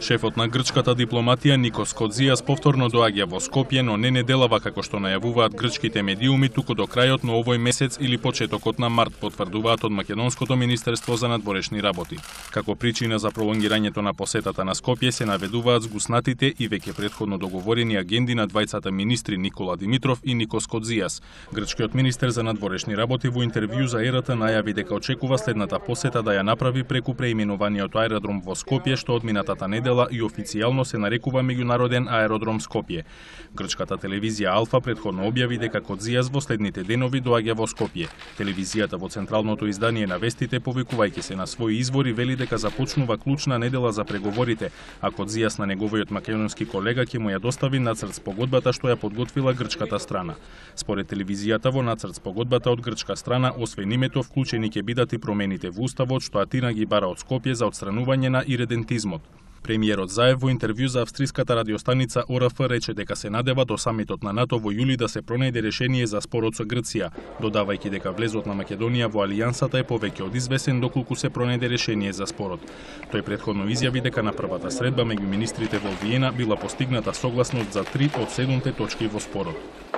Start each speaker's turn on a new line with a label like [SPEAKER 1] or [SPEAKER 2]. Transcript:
[SPEAKER 1] Шефот на грчката дипломатија Никос Кодзијас повторно доаѓа во Скопје, но не неделава како што најавуваат грчките медиуми, туку до крајот на овој месец или почетокот на март, потврдуваат од Македонското министерство за надворешни работи. Како причина за пролонгирањето на посетата на Скопје се наведуваат згуснатите и веќе претходно договорени агенди на двајцата министри Никола Димитров и Никос Кодзијас. Грчкиот министер за надворешни работи во интервју за ЕРТ најави дека очекува следната посета да ја направи преку преименуваниот аеродром во Скопје, што од минатата недела и официјално се нарекува Меѓународен аеродром Скопје. Грчката телевизија Алфа претходно објави дека Кодзијас во следните денови доаѓа во Скопје. Телевизијата во централното издание на вестите, повикувајќи се на своји извори, вели дека започнува клучна недела за преговорите, а Кодзијас на неговиот македонски колега ќе му ја достави нацрт спогодбата што ја подготвила грчката страна. Според телевизијата, во нацрт спогодбата од грчка страна, освен името, вклучени ќе бидат и промените во уставот што Атина ги бара од Скопје за отстранување на иредентизмот. Премиерот Заев во интервју за австриската радиостаница ОРФ рече дека се надева до самитот на НАТО во јули да се пронајде решение за спорот со Грција, додавајќи дека влезот на Македонија во алијансата е повеќе од извесен доколку се пронајде решение за спорот. Тој претходно изјави дека на првата средба меѓу министрите во Виена била постигната согласност за 3 од 7 точки во спорот.